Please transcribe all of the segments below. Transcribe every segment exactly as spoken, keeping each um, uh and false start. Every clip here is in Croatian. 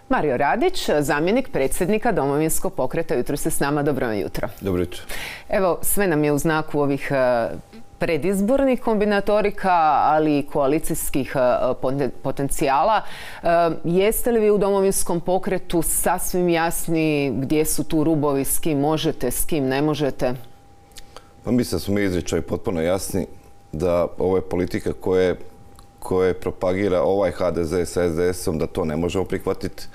Mario Radić, zamjenik predsjednika Domovinskog pokreta, jutros je s nama. Dobro jutro. Dobro jutro. Evo, sve nam je u znaku ovih predizbornih kombinatorika, ali i koalicijskih potencijala. Jeste li vi u Domovinskom pokretu sasvim jasni gdje su tu rubovi, s kim možete, s kim ne možete? Pa mislim da smo mi izričaj potpuno jasni da ove politike koje, koje propagira ovaj H D Z sa S D S-om, da to ne možemo prihvatiti.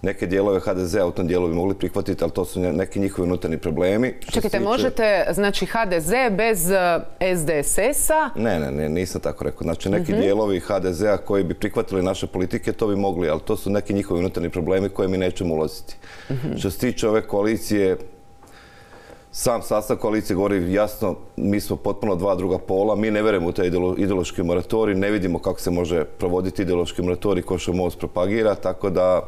Neke dijelove H D Z-a u tom dijelu bi mogli prihvatiti, ali to su neki njihovi unutarnji problemi. Čekajte, možete, znači H D Z bez S D S S-a? Ne, ne, ne, nisam tako rekao. Znači neki dijelovi H D Z-a koji bi prihvatili naše politike, to bi mogli, ali to su neki njihovi unutarnji problemi koje mi nećemo ulaziti. Što se tiče ove koalicije, sam sastav koalicije govori jasno, mi smo potpuno dva druga pola, mi ne vjerujemo u taj ideološki moratorij, ne vidimo kako se može provoditi ideološki moratorij ko što MOST propagira, tako da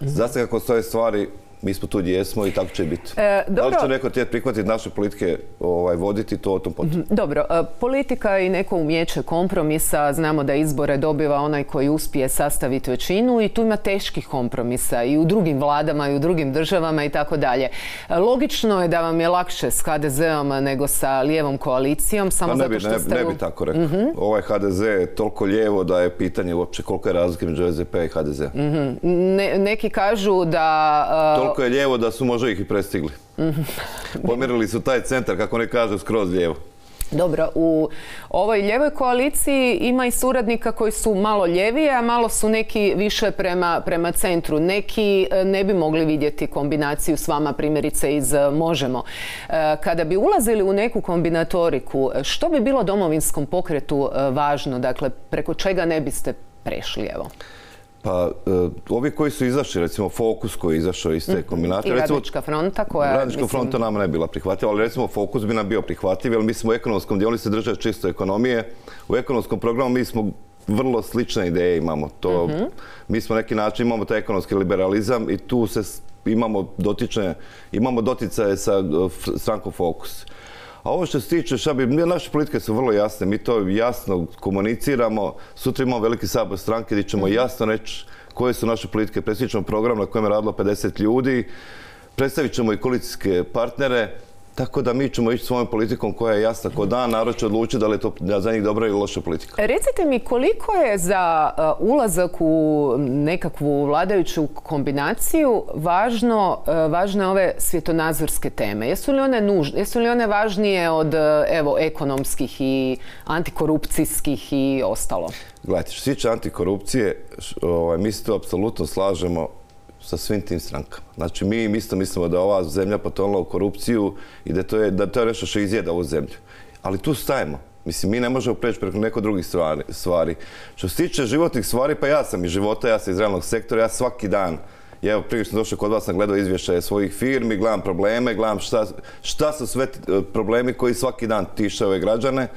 Zasta kako stoje stvari, mi smo tu gdje jesmo i tako će biti. E, da li će neko tijeti prihvatiti naše politike, ovaj, voditi, to o tom potom. Dobro, e, politika i neko umjeće kompromisa, znamo da izbore dobiva onaj koji uspije sastaviti većinu i tu ima teških kompromisa i u drugim vladama i u drugim državama i tako dalje. Logično je da vam je lakše s H D Z-om nego sa lijevom koalicijom, samo pa ne zato bi, što ne, ste... Ne bi tako rekao. Mm-hmm. Ovaj H D Z je toliko lijevo da je pitanje uopće koliko je razlike među S D P i H D Z. Mm-hmm. ne, neki kažu da... Uh, Toliko je lijevo da su možda ih i prestigli. Pomjerili su taj centar, kako ne kažu, skroz lijevo. Dobro, u ovoj lijevoj koaliciji ima i suradnika koji su malo ljevije, a malo su neki više prema, prema centru. Neki ne bi mogli vidjeti kombinaciju s vama, primjerice iz Možemo. Kada bi ulazili u neku kombinatoriku, što bi bilo Domovinskom pokretu važno? Dakle, preko čega ne biste prešli, evo? Pa, uh, ovi koji su izašli, recimo Fokus koji je izašao iz te kombinacije... I Radnička fronta koja... Radnička mislim... fronta nama ne bila prihvatljiva, ali recimo Fokus bi nam bio prihvatljiv, jer mi smo u ekonomskom dijelu, oni se drže čisto ekonomije. U ekonomskom programu mi smo vrlo slične ideje imamo. To, mm-hmm. Mi smo neki način, imamo taj ekonomski liberalizam i tu se imamo dotične, imamo doticaje sa uh, strankom Fokus. A ovo što se tiče, šta bi, naše politike su vrlo jasne, mi to jasno komuniciramo, sutra imamo veliki sabor stranke gdje ćemo jasno reći koje su naše politike, predstavit ćemo program na kojem je radilo pedeset ljudi, predstavit ćemo i koalicijske partnere, tako da mi ćemo ići svojom politikom koja je jasna ko dan, narod će odlučiti da li je to za njih dobra ili loša politika. Recite mi, koliko je za uh, ulazak u nekakvu vladajuću kombinaciju važno, uh, važne ove svjetonazorske teme? Jesu li one nužne, jesu li one važnije od uh, evo, ekonomskih i antikorupcijskih i ostalo? Gledajte, što se tiče antikorupcije, ovaj, mi se to apsolutno slažemo sa svim tim strankama. Znači, mi isto mislimo da ova zemlja potonula u korupciju i da to je, da to je nešto što izjeda ovu zemlju. Ali tu stajemo. Mislim, mi ne možemo preći preko neko drugih stvari, stvari. Što se tiče životnih stvari, pa ja sam iz života, ja sam iz realnog sektora, ja svaki dan, ja evo, prije što sam došao kod vas, sam gledao izvještaje svojih firmi, gledam probleme, gledam šta, šta su sve problemi koji svaki dan tiše ove građane.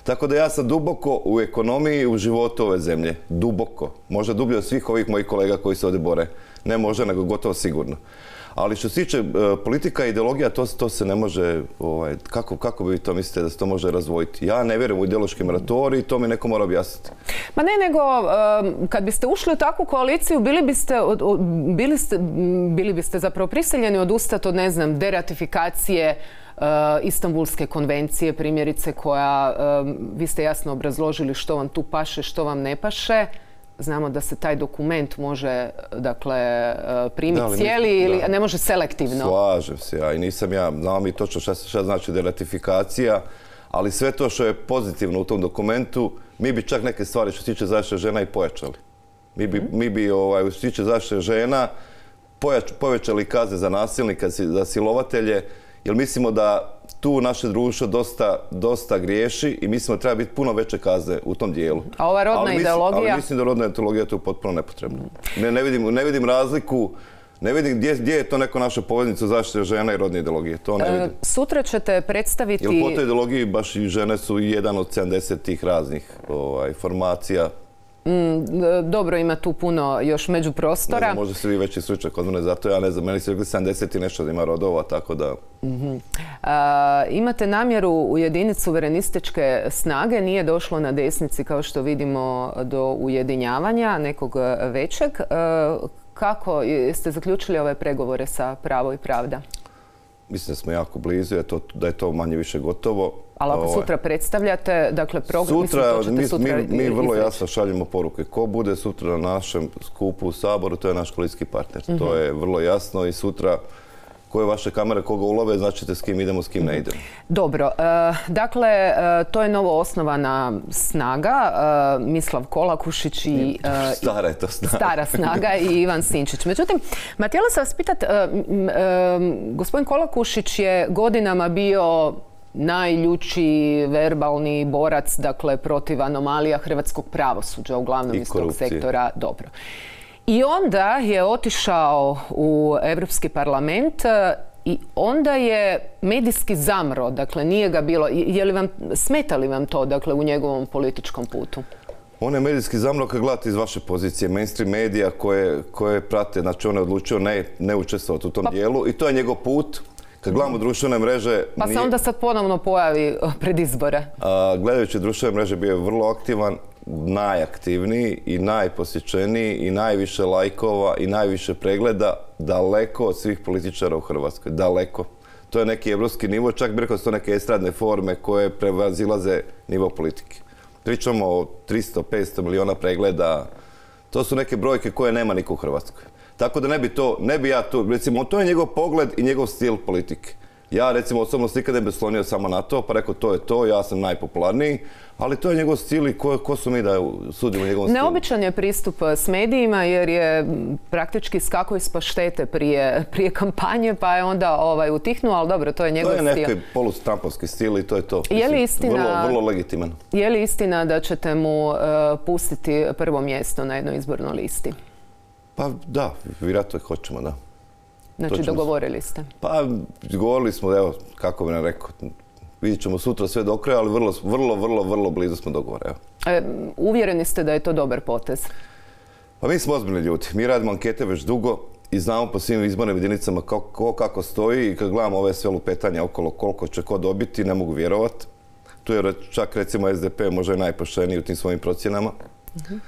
Tako da ja sam duboko u ekonomiji i u životu ove zemlje. Duboko. Možda dublje od svih ovih mojih kolega koji se ovdje bore. Ne možda, nego gotovo sigurno. Ali što se tiče uh, politika i ideologija, to, to se ne može, ovaj, kako, kako bi to mislite da se to može razvojiti? Ja ne vjerujem u ideološki moratorij i to mi neko mora objasniti. Ma ne, nego um, kad biste ušli u takvu koaliciju, bili biste, od, od, bili ste, bili biste zapravo prisiljeni odustati od, ne znam, deratifikacije Uh, Istanbulske konvencije, primjerice, koja, um, vi ste jasno obrazložili što vam tu paše, što vam ne paše. Znamo da se taj dokument može, dakle, uh, primiti cijeli mi, ili da. Ne može selektivno. Slažem se ja i nisam ja, znam i točno šta, šta znači deratifikacija, ali sve to što je pozitivno u tom dokumentu, mi bi čak neke stvari što se tiče zaštite žena i pojačali. Mi bi, mm. mi bi ovaj, što se tiče zaštite žena, pojač, povećali kazne za nasilnika, za silovatelje, jer mislimo da tu naše društvo dosta, dosta griješi i mislimo da treba biti puno veće kazne u tom dijelu. A ova rodna ali ideologija? Mislim, ali mislim da rodna ideologija je tu potpuno nepotrebna. Ne, ne, vidim, ne vidim razliku, ne vidim gdje, gdje je to neko naša poveznica zaštite žena i rodne ideologije. To ne vidim. E, sutra ćete predstaviti... Jer po toj ideologiji baš i žene su jedan od sedamdeset tih raznih ovaj, formacija. Mm, dobro, ima tu puno još međuprostora. Ne znam, možda ste vi veći stručnjak od mene, zato ja ne znam, meni su rekli sedamdeset i nešto da ima rodova, tako da... Mm-hmm. A, imate namjeru ujediniti suverenističke snage, nije došlo na desnici, kao što vidimo, do ujedinjavanja nekog većeg. A, kako ste zaključili ove pregovore sa Pravo i pravda? Mislim da smo jako blizu, da je to manje više gotovo. Ali ako sutra predstavljate, dakle, program, sutra, mi, mi vrlo jasno šaljemo poruke. Ko bude sutra na našem skupu u Saboru, to je naš koalicijski partner. Mm-hmm. To je vrlo jasno i sutra koje vaše kamere, koga ulove, značite s kim idemo, s kim ne idemo. Dobro. E, dakle, e, to je novo osnovana snaga. E, Mislav Kolakušić i... E, stara je to snaga. Stara snaga i Ivan Sinčić. Međutim, ma htjela sam vas pitati, e, e, gospodin Kolakušić je godinama bio najljući verbalni borac, dakle, protiv anomalija hrvatskog pravosuđa, uglavnom iz tog sektora. Dobro. I onda je otišao u Europski parlament i onda je medijski zamro, dakle nije ga bilo, je li vam, smeta li vam to, dakle, u njegovom političkom putu? On je medijski zamro kad gledate iz vaše pozicije, mainstream medija koje, koje prate, znači on je odlučio ne, ne učestvovati u tom pa, dijelu i to je njegov put. Kad gledamo društvene mreže... Pa se onda sad ponovno pojavi pred izbore. A, gledajući društvene mreže bio je vrlo aktivan, najaktivniji i najposjećeniji i najviše lajkova i najviše pregleda, daleko od svih političara u Hrvatskoj. Daleko. To je neki evropski nivo, čak bi rekao da su to neke estradne forme koje prevazilaze nivo politike. Pričamo o tristo do petsto miliona pregleda. To su neke brojke koje nema niko u Hrvatskoj. Tako da ne bi to, ne bi ja to, recimo, to je njegov pogled i njegov stil politike. Ja, recimo, osobno se nikada ne bi slonio samo na to, pa rekao to je to, ja sam najpopularniji, ali to je njegov stil i ko, ko su mi da sudimo njegovom stilu. Neobičan je pristup s medijima jer je praktički skakao iz paštete prije, prije kampanje, pa je onda ovaj, utihnuo, ali dobro, to je njegov stil. To je neki polustrampovski stil i to je to. Je li istina, vrlo, vrlo legitiman. Je li istina da ćete mu uh, pustiti prvo mjesto na jednoj izbornoj listi? Pa da, vjerojatno hoćemo, da. Znači, dogovorili ste? Pa, govorili smo, evo, kako bi nam rekao, vidjet ćemo sutra sve do kraja, ali vrlo, vrlo, vrlo, vrlo blizu smo dogovora, evo. E, uvjereni ste da je to dobar potez? Pa mi smo ozbiljni ljudi. Mi radimo ankete već dugo i znamo po svim izbornim jedinicama kako, kako stoji i kad gledamo ove sve lupetanja okolo koliko će ko dobiti, ne mogu vjerovati. Tu je čak, recimo, S D P možda i najpošteniji u tim svojim procjenama. Uh-huh.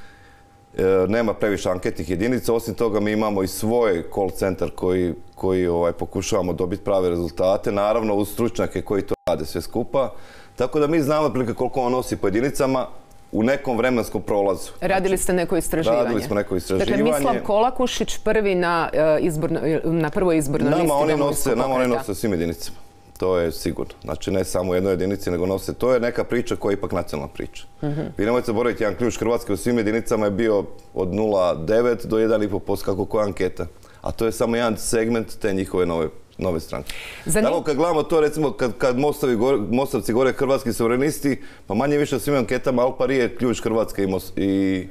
Nema previše anketnih jedinica, osim toga mi imamo i svoj call centar koji, koji ovaj, pokušavamo dobiti prave rezultate, naravno uz stručnjake koji to rade sve skupa. Tako da mi znamo otprilike koliko on nosi po jedinicama u nekom vremenskom prolazu. Radili ste neko istraživanje? Radili smo neko istraživanje. Dakle, Mislav Kolakušić prvi na, izborno, na prvoj izbornoj listi Domovinskog pokreta. Nama oni nose svim jedinicama. To je sigurno. Znači ne samo u jednoj jedinici, nego nose. To je neka priča koja je ipak nacionalna priča. Mm-hmm. Vi nemojte zaboraviti, jedan ključ Hrvatske u svim jedinicama je bio od nula zarez devet do jedan i pol posto kako koja anketa. A to je samo jedan segment te njihove nove, nove stranke. Zanim... Tako kad gledamo to, recimo, kad, kad Mostovi gore, Mostovci gore Hrvatski suverenisti, pa manje više u svim anketama al pari je ključ Hrvatske i, Most, i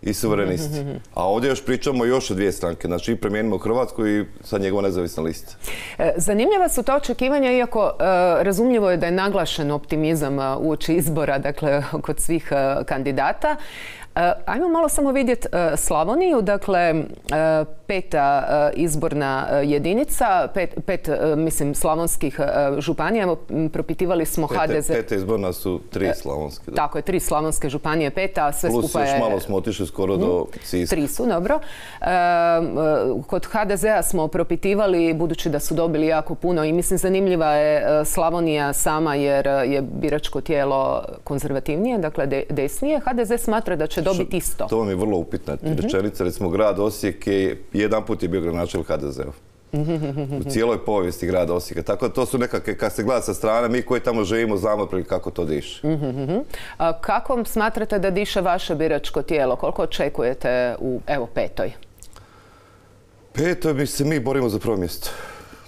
i suverenisti. Mm-hmm. A ovdje još pričamo još o dvije stranke, znači i Promijenimo Hrvatsku i sad njegova nezavisna lista. Zanimljiva su ta očekivanja, iako uh, razumljivo je da je naglašen optimizam uh, uoči izbora, dakle, kod svih uh, kandidata. Uh, ajmo malo samo vidjeti uh, Slavoniju, dakle, uh, peta uh, izborna uh, jedinica, pet, pet uh, mislim, slavonskih uh, županija. Evo, propitivali smo Pete, H D Z. Peta izborna su tri slavonske. Da. Tako je, tri slavonske županije, peta, a sve plus skupa je... Plus još malo smo otišli skoro mm, do Siska. Tri su, dobro. Uh, kod H D Z-a smo propitivali, budući da su dobili jako puno i mislim zanimljiva je uh, Slavonija sama jer je biračko tijelo konzervativnije, dakle de, desnije. H D Z smatra da će dobiti isto. To vam je vrlo upitna mm-hmm. rečenica. Recimo, grad Osijek je jedan put je bio gradonačelnik H D Z-ov. U cijeloj povijesti grada Osijeka. Tako da to su nekakve, kad se gleda sa strane, mi koji tamo živimo znamo kako to diše. Mm-hmm. A kako smatrate da diše vaše biračko tijelo? Koliko očekujete u, evo, petoj? Petoj mi se mi borimo za prvo mjesto.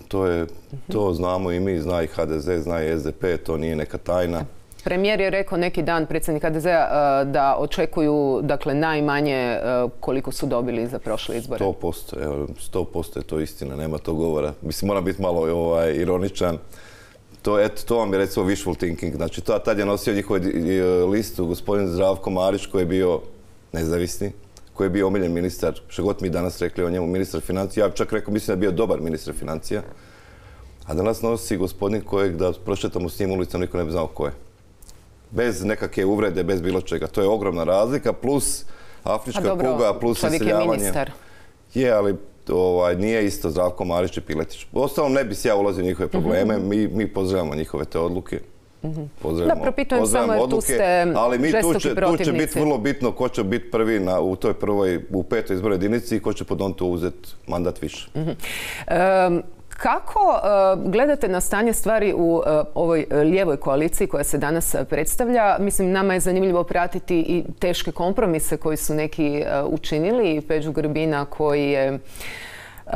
To, je, to znamo i mi, zna i H D Z, zna i S D P, to nije neka tajna. Premijer je rekao neki dan, predsjednik H D Z-a, da očekuju, dakle, najmanje koliko su dobili za prošle izbore. sto posto, evo, sto posto je to istina, nema to govora. Mislim, moram biti malo ovaj, ironičan. To, eto, to vam je recimo wishful thinking. Znači, to, tad je nosio njihovu listu gospodin Zdravko Marić, koji je bio nezavisni, koji je bio omiljen ministar, što god mi danas rekli o njemu, ministar financija. Ja čak rekao, mislim da je bio dobar ministar financija. A danas nosi gospodin kojeg da prošetamo s njim ulicom, niko ne bi znao ko je. Bez nekakve uvrede, bez bilo čega. To je ogromna razlika, plus afrička dobro, kuga, plus iseljavanje. Čovjek je ministar. Je, ali ovaj, nije isto Zdravko Marić i Piletić. Uostalom ne bi se ja ulazio u njihove probleme, mm-hmm. mi, mi pozdravljamo njihove te odluke. Mm-hmm. Da, propitujem samo jer tu ste ali mi žestoki tu će, protivnici. Tu će biti vrlo bitno ko će biti prvi na, u toj prvoj, u petoj izbornoj jedinici i ko će pod on to uzeti mandat više. Mm-hmm. um, Kako uh, gledate na stanje stvari u uh, ovoj lijevoj koaliciji koja se danas predstavlja? Mislim, nama je zanimljivo pratiti i teške kompromise koji su neki uh, učinili. Peđu Grbina koji je uh,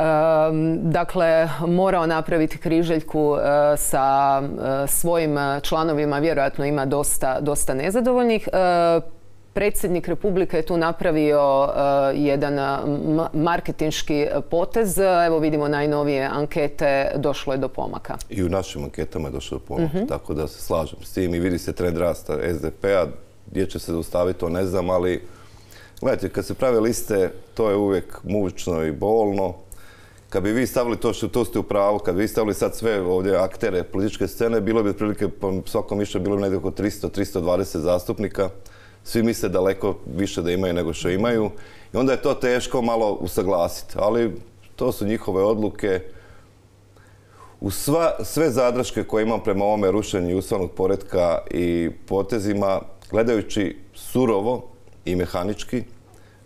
dakle morao napraviti križaljku uh, sa uh, svojim članovima. Vjerojatno ima dosta, dosta nezadovoljnih. Uh, Predsjednik Republike je tu napravio uh, jedan uh, marketinški potez. Evo vidimo najnovije ankete, došlo je do pomaka. I u našim anketama je došlo do pomaka, mm-hmm. tako da se slažem s tim i vidi se trend rasta es de pe-a. Gdje će se zaustaviti, to ne znam, ali gledajte, kad se prave liste, to je uvijek mučno i bolno. Kad bi vi stavili to što to ste u pravu, kad bi vi stavili sad sve ovdje aktere političke scene, bilo bi otprilike po svakom mišlju bilo bi negdje oko tristo do tristo dvadeset zastupnika. Svi misle daleko više da imaju nego što imaju i onda je to teško malo usaglasiti, ali to su njihove odluke. U sva, sve zadrške koje imam prema ovome rušenju ustavnog poretka i potezima, gledajući surovo i mehanički,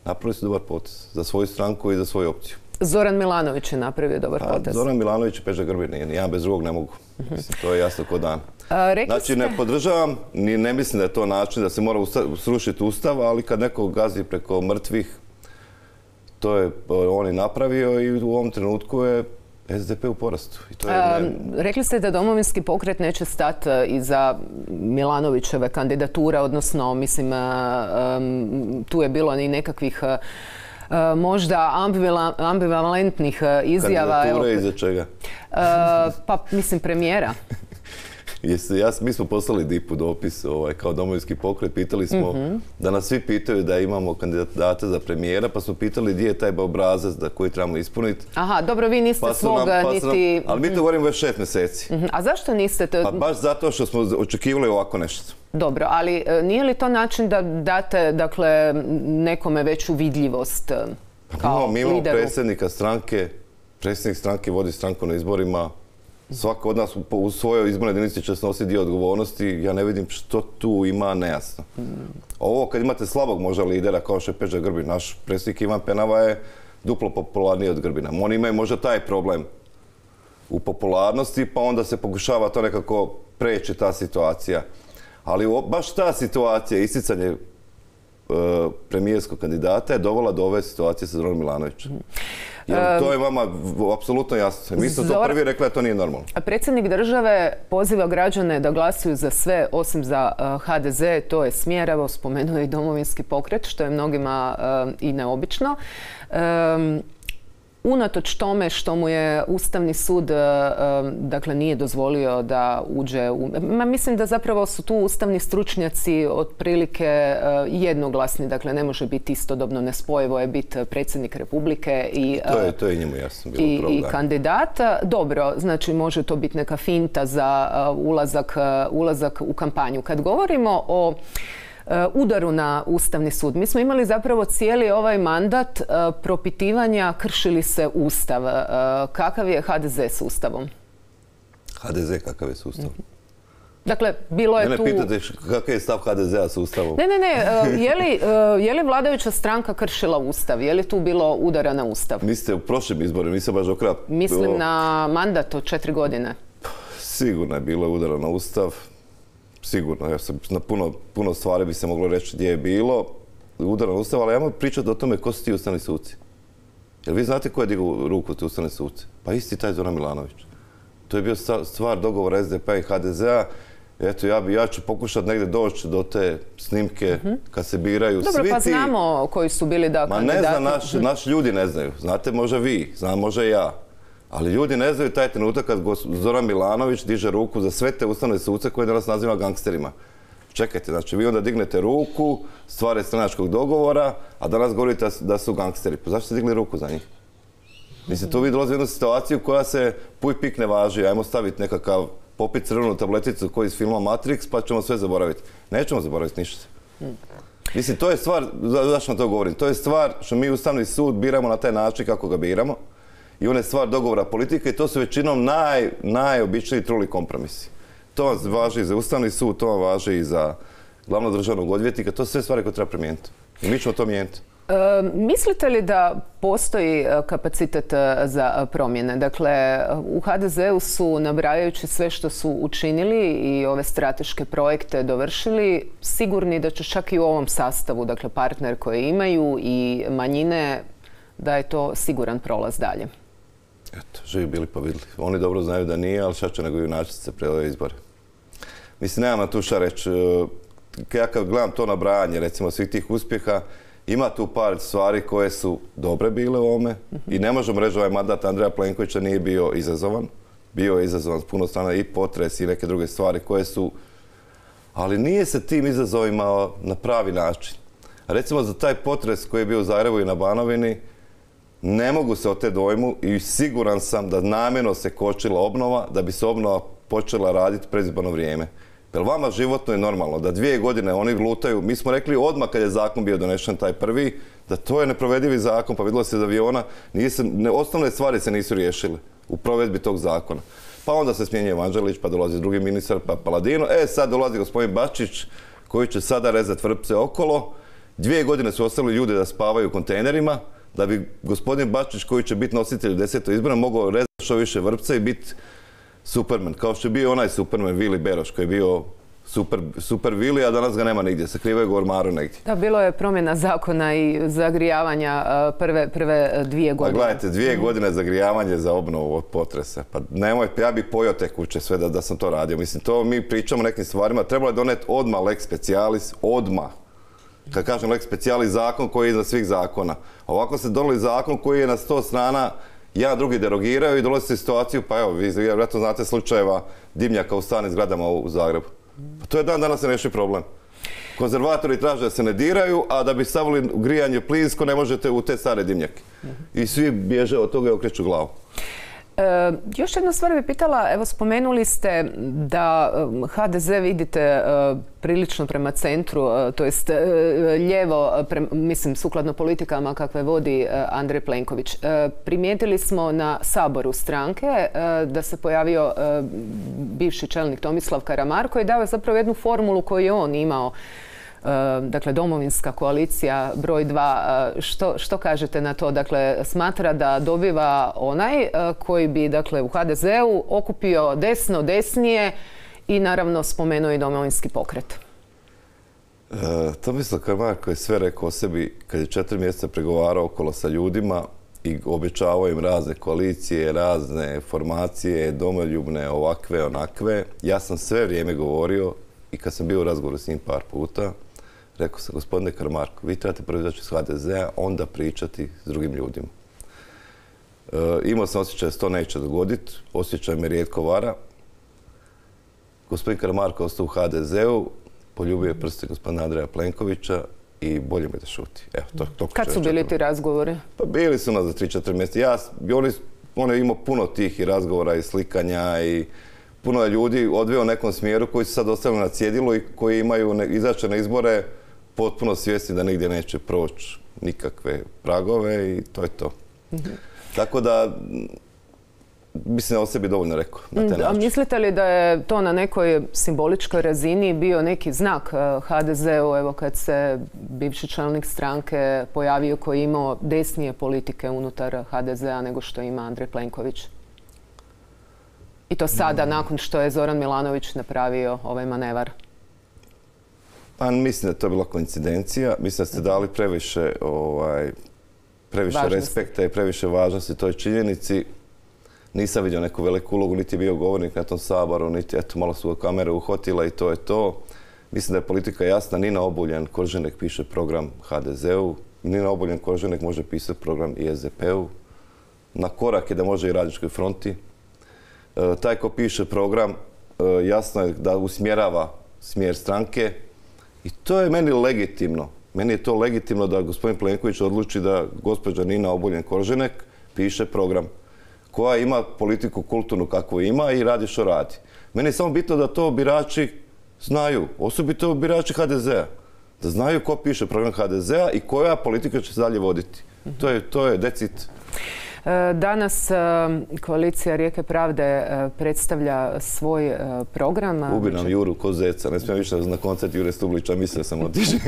napravili su dobar potez za svoju stranku i za svoju opciju. Zoran Milanović je napravio dobar A, potez. Zoran Milanović i Peđa Grbin, jedan bez drugog ne mogu. Uh-huh. Mislim, to je jasno ko dan. A, znači, ste... ne podržavam, ni ne mislim da je to način da se mora usta, srušiti ustav, ali kad neko gazi preko mrtvih, to je on i napravio i u ovom trenutku je es de pe u porastu. I to je A, ne... Rekli ste da Domovinski pokret neće stati iza Milanovićeve kandidature, odnosno, mislim, um, tu je bilo i nekakvih Uh, možda ambivalentnih uh, izjava. Kandidature iza čega? Uh, pa, mislim, premijera. Jesi, ja, mi smo poslali dipu dopis ovaj, kao Domovinski pokret, pitali smo mm-hmm. da nas svi pitaju da imamo kandidate za premijera, pa smo pitali gdje je taj obrazac da koji trebamo ispuniti. Aha, dobro, vi niste pa svog nam, pa niti... Nam, ali mi to govorimo već šest mjeseci. Mm-hmm. A zašto niste to... Pa baš zato što smo očekivali ovako nešto. Dobro, ali nije li to način da date, dakle, nekome veću vidljivost kao mi imamo lideru? predsjednika stranke, predsjednik stranke vodi stranku na izborima, svako od nas u svojoj izbornoj jedinici će snositi dio odgovornosti, ja ne vidim što tu ima nejasno. Mm. Ovo kad imate slabog možda lidera kao što je Peđa Grbin, naš predsjednik Ivan Penava je duplo popularniji od Grbina. Oni imaju možda taj problem u popularnosti, pa onda se pokušava to nekako preći ta situacija. Ali baš ta situacija, isticanje e, premijerskog kandidata je dovela do ove situacije sa Zoranom Milanovićem. Jer to je vama apsolutno jasno. Mi smo to prvi rekli da to nije normalno. Predsjednik države poziva građane da glasuju za sve osim za ha de ze. To je smjer, evo spomenuo i Domovinski pokret, što je mnogima uh, i neobično. Um, Unatoč tome što mu je Ustavni sud dakle, nije dozvolio da uđe u... Ma, mislim da zapravo su tu ustavni stručnjaci otprilike jednoglasni. Dakle, ne može biti istodobno nespojivo je biti predsjednik Republike i, to je, to je njemu jasno bilo i, problem. i kandidat. Dobro, znači može to biti neka finta za ulazak, ulazak u kampanju. Kad govorimo o udaru na Ustavni sud. Mi smo imali zapravo cijeli ovaj mandat propitivanja krši li se Ustav. Kakav je ha de ze s Ustavom? ha de ze kakav je s Ustavom? Dakle, bilo je ne, ne, tu... Ne, pitate kakav je stav ha de zea s Ustavom? Ne, ne, ne. Je li, je li vladajuća stranka kršila Ustav? Je li tu bilo udara na Ustav? Mislite u prošlim izborima, nisam baš okrap... Mislim bilo... na mandat od četiri godine. Sigurno je bilo udara na Ustav. Sigurno, ja sam, na puno, puno stvari bi se moglo reći gdje je bilo udar na Ustav, ali ja mogu pričati o tome ko su ti ustavni suci. Jel vi znate ko je digao ruku ti ustavni suci? Pa isti taj Zoran Milanović. To je bio stvar dogovora es de pe-a i ha de zea. Eto, ja, bi, ja ću pokušati negdje doći do te snimke mm-hmm. kad se biraju. Dobro, svi pa ti... znamo koji su bili da Ma kandidati. ne zna, naš, naši ljudi ne znaju. Znate možda vi, znam možda ja. Ali ljudi ne znaju taj trenutak kad Zoran Milanović diže ruku za sve te ustavne suce koje danas naziva gangsterima. Čekajte, znači vi onda dignete ruku, stvar stranačkog dogovora, a danas govorite da su gangsteri. Pa zašto ste digli ruku za njih? Mislim, tu vi dolazi u jednu situaciju koja se puj pik ne važi. Ajmo staviti nekakav popit crvenu tableticu koji iz filma Matrix, pa ćemo sve zaboraviti. Nećemo zaboraviti ništa. Mislim, to je stvar, zašto vam to govorim, to je stvar što mi Ustavni sud biramo na taj način kako ga biramo i on je stvar dogovora politike i to su većinom naj, najobičniji truli kompromisi. To vam važi i za Ustavni sud, to vam važi i za glavnog državnog odvjetnika, to su sve stvari koje treba primijeniti. I mi ćemo to mijeniti. E, mislite li da postoji kapacitet za promjene? Dakle, u ha de zeu su, nabrajajući sve što su učinili i ove strateške projekte dovršili, sigurni da će čak i u ovom sastavu, dakle partner koje imaju i manjine, da je to siguran prolaz dalje. Eto, živi bili pa vidjeli. Oni dobro znaju da nije, ali šta će nego junačice pred ove izbore. Mislim, nemam tu šta reći. Ja kad gledam to nabrajanje, recimo, svih tih uspjeha, ima tu par stvari koje su dobre bile u ovome i ne možemo reći da ovaj mandat Andreja Plenkovića nije bio izazovan. Bio je izazovan s puno strana i potres i neke druge stvari koje su... Ali nije se tim izazovima na pravi način. Recimo za taj potres koji je bio u Zagrebu i na Banovini, ne mogu se od te dojmu i siguran sam da namjerno se kočila obnova, da bi se obnova počela raditi predizborno vrijeme. Jer vama životno je normalno da dvije godine oni lutaju. Mi smo rekli odmah kad je zakon bio donešen taj prvi, da to je neprovedivi zakon, pa vidjelo se iz aviona. Se, ne, osnovne stvari se nisu riješile u provedbi tog zakona. Pa onda se smjenjuje Vanđelić, pa dolazi drugi ministar, pa Paladino. E, sad dolazi gospodin Bačić, koji će sada rezati vrpce okolo. Dvije godine su ostali ljudi da spavaju u kontejnerima, da bi gospodin Bačić, koji će biti nositelj desetog izbora, mogao rezati što više vrpce i biti Superman, kao što je bio onaj Superman Vili Beroš, koji je bio super, super Vili, a danas ga nema nigdje, sakrivaju ga u ormaru negdje. Da, bilo je promjena zakona i zagrijavanja prve, prve dvije godine. Pa gledajte, dvije mm. godine zagrijavanje za obnovu od potresa. Pa nemoj, ja bi pojao te kuće sve da, da sam to radio. Mislim, to mi pričamo o nekim stvarima. Trebalo je doneti odmah lex specialis, odmah. Kad kažem lex specialis, zakon koji je iznad svih zakona. Ovako se doneli zakon koji je na sto strana, jedan drugi derogiraju i dolazi se situaciju, pa evo, vi vjerojatno znate slučajeva dimnjaka u starim zgradama u Zagrebu. Pa to je dan danas se reši problem. Konzervatori traže da se ne diraju, a da bi stavili grijanje plinsko ne možete u te stare dimnjake. I svi bježe od toga i okreću glavu. E, još jedna stvar bi pitala, evo spomenuli ste da ha de ze vidite e, prilično prema centru, e, to jest e, lijevo, pre, mislim sukladno politikama kakve vodi e, Andrej Plenković. E, primijetili smo na Saboru stranke e, da se pojavio e, bivši čelnik Tomislav Karamarko i dao je zapravo jednu formulu koju je on imao. Dakle, domovinska koalicija broj dva. Što, što kažete na to? Dakle, smatra da dobiva onaj koji bi, dakle, u ha de zeu okupio desno, desnije i naravno spomenuo i domovinski pokret. E, Tomislav Karamarko je sve rekao o sebi kad je četiri mjeseca pregovarao okolo sa ljudima i obećavao im razne koalicije, razne formacije, domoljubne, ovakve, onakve. Ja sam sve vrijeme govorio i kad sam bio u razgovoru s njim par puta, rekao sam, gospodine Karamarko, vi trebate prvo izaći iz ha de zea, onda pričati s drugim ljudima. E, imao sam osjećaj da se to neće dogoditi, osjećaj me rijetko vara. Gospodin Karamarko ostao u ha de zeu, poljubio je prste gospodina Andreja Plenkovića i bolje mi da šuti. Evo, to, to Kad su bili ti razgovori? Pa bili su nas za tri četiri mjeseca. Ja, oni, on je imao puno tih i razgovora i slikanja i puno je ljudi odveo u nekom smjeru koji su sad ostavili na cjedilu i koji imaju ne, izaći na izbore potpuno svjesni da nigdje neće proći nikakve pragove i to je to. Mm-hmm. Tako da, mislim da o sebi dovoljno rekao na taj način. A mislite li da je to na nekoj simboličkoj razini bio neki znak ha de zeu, evo kad se bivši čelnik stranke pojavio koji je imao desnije politike unutar ha de zea nego što ima Andrej Plenković? I to sada, nakon što je Zoran Milanović napravio ovaj manevar? Pa mislim da je to bila koincidencija. Mislim da ste dali previše, ovaj, previše respekta i previše važnosti toj činjenici. Nisam vidio neku veliku ulogu, niti je bio govornik na tom Saboru, niti eto, malo su ga kamere uhotila i to je to. Mislim da je politika jasna. Nina Obuljen Koržinek piše program ha de zeu. Nina Obuljen Koržinek može pisati program i es de pe-u. Na korak je da može i Radničkoj fronti. E, taj ko piše program, e, jasno je da usmjerava smjer stranke i to je meni legitimno. Meni je to legitimno da gospodin Plenković odluči da gospođa Nina Obuljen Koržinek piše program koja ima politiku kulturnu kakvu ima i radi što radi. Meni je samo bitno da to birači znaju, osobito birači ha de zea. Da znaju ko piše program ha de zea i koja politika će se dalje voditi. To je, to je decit. Danas koalicija Rijeke pravde predstavlja svoj program. Ubi nam Juru ko zeca. Ne smijem više na koncert Jure Stublića, mislio sam otići.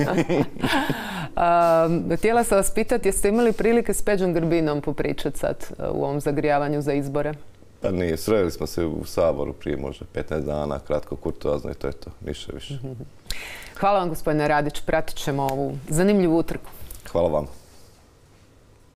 Htjela sam vas pitati, jeste imali prilike s Peđom Grbinom popričati sad u ovom zagrijavanju za izbore? Pa nije, sreli smo se u Saboru prije možda petnaest dana, kratko, kurtoazno i to je to, ništa više. Hvala vam, gospodine Radić, pratit ćemo ovu zanimljivu utrku. Hvala vam.